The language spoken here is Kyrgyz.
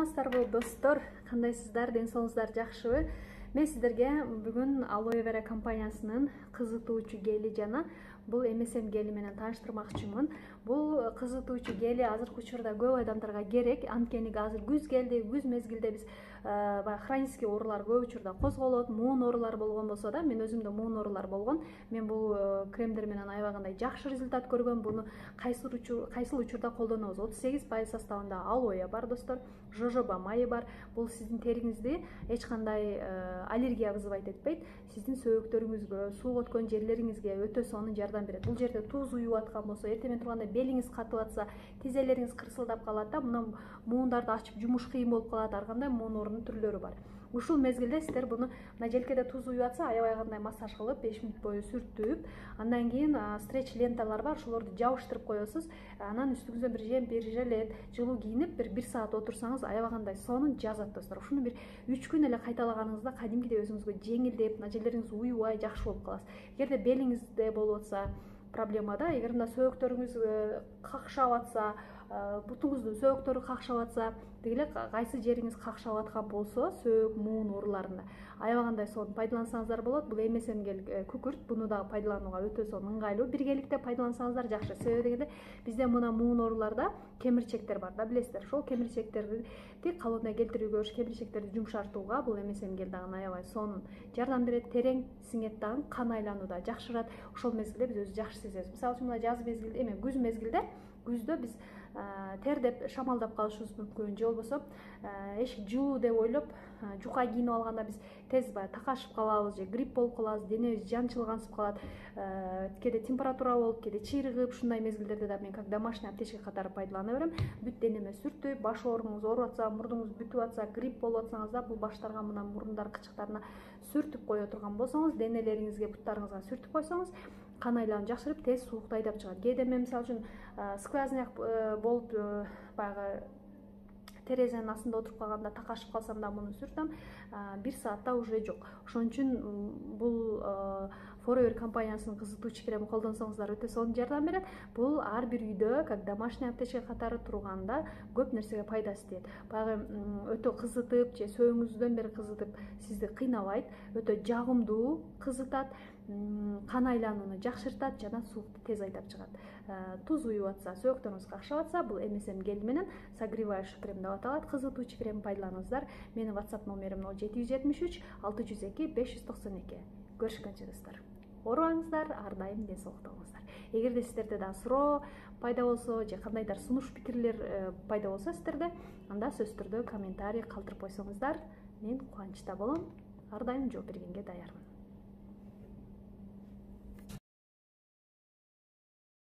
Саламатсыздарбы достор, кандайсыздар, ден соолугуңуздар жакшыбы? Мен сиздерге бүгүн Aloe Vera компаниясынын кызытуучу гели жана бул MSM гели менен тааныштырмакчымын. Бул кызытуучу гели азыркы учурда көп адамдарга керек. Анткени азыр күз келди, күз мезгилде биз хронический оорулар көп учурда козголот, муун оорулар болгон болсо да, мен өзүмдө муун оорулар болгон. Мен бул кремдер менен аябагандай жакшы результат көргөм. Буну кайсыл учурда колдонобуз? 38% составында алоэ бар достор, жожоба майы бар. Бул сиздин териңизди эч кандай аллергия вызывать этпейт. Сиздин сөөгүктөрүңүзгө, сууга өткөн жерлериңизге өтө сонун жардам берет. Бул жерде туз уюп аткан болсо, эртең менен турганда белиңиз катып атса, тизелериңиз кырсылдап калат да, мына муундарды ачып жумуш кыйын болуп калат, ар кандай муун оорунун түрлөрү бар. Ушул мезгилде сиздер буну мына желкеде туз уюп атса, аябай кандай массаж кылып, 5 мүнөт бою сүртүп, андан кийин стретч ленталар бар, ошолорду жабыштырып коесуз. Анан үстүңүзгө бир жемпир, жилет, жылуу кийинип, бир саат отурсаңыз, аябай кандай сонун жазат достор. Ушуну бир 3 күн эле кайталаганыңызда кадимкидей өзүңүзгө жеңилдеп, мына жерлериңиз уюбай жакшы болуп каласыз. Эгерде белиңизде болуп атса проблема да, эгер мына сөөгүктөрүңүз какшап атса, бутуңуздун сөөгүктөрү какшап атса, деги кайсы жериңиз какшап аткан болсо, сөөгүк, муун ооруларында аябай кандай сонун пайдалансаңыздар болот. Бул MSM гел күкүрт, буну дагы пайдаланууга өтө сонун ыңгайлуу. Биргеликте пайдалансаңыздар жакшы. Себеби дегенде бизде мына муун ооруларда кемирчектер бар да, билесиздер. Ошол кемирчектерди калыбына келтирүүгө, кемирчектерди жумшартууга бул MSM гел дагы аябай сонун жардам берет. Терең сиңет дагы, кан айлануу да жакшырат. Ошол мезгилде биз өзүбүздү жакшы сезебиз. Мисалы үчүн мына жаз мезгилде, күз мезгилде, күздө биз тердеп, шамалдап калышыбыз мүмкүн, же болбосо эшик жылуу деп ойлоп, жука кийинип алганда биз тез баягы такашып калабыз, же грипп болуп калабыз, денебиз жанчылгансып калат, кээде температура болуп, кээде чыйрыгып, ушундай мезгилдерде да мен как домашний аптечка катары пайдалана берем. Бүт денеме сүртүп, баш ооруңуз ооруп атса, мурдуңуз бүтүп атса, грипп болуп атсаңыз да, бул баштарга, мына мурундар кычыктарына сүртүп кое турган болсоңуз, денелериңизге, буттарыңызга сүртүп койсоңуз, кан айлануу жакшырып, тез суукту айдап чыгат. Кээде мен мисалы үчүн сквозняк болуп баягы терезенин астында отуруп калганда такашып калсам да муну сүртөм, 1 саатта уже жок. Ошон үчүн бул Forever компаниясынын кызытуучу кремин колдонсоңуздар өтө сонун жардам берет. Бул ар бир үйдө как домашний аптечка катары турганда көп нерсеге пайдасы тиет. Баягы өтө кызытып, же сөөгүңүздөн бери кызытып сизди кыйнабайт, өтө жагымдуу кызытат, кан айланууну жакшыртат жана суукту тез айдап чыгат. Туз уюп атса, сөөгүктөрүңүз какшап атса, бул MSM гел менен согревающий крем деп аталат, кызытуучу крем пайдаланыңыздар. Менин WhatsApp номерим 0773 602 592. Көрүшкөнчө достор. Оорубаңыздар, ар дайым ден соолукта болуңуздар. Эгерде сиздерде да суроо пайда болсо, же кандайдыр сунуш пикирлер пайда болсо сиздерде, анда сөзсүз түрдө комментарий калтырып койсоңуздар, мен кубанычта болом. Ар дайым жооп бергенге даярмын.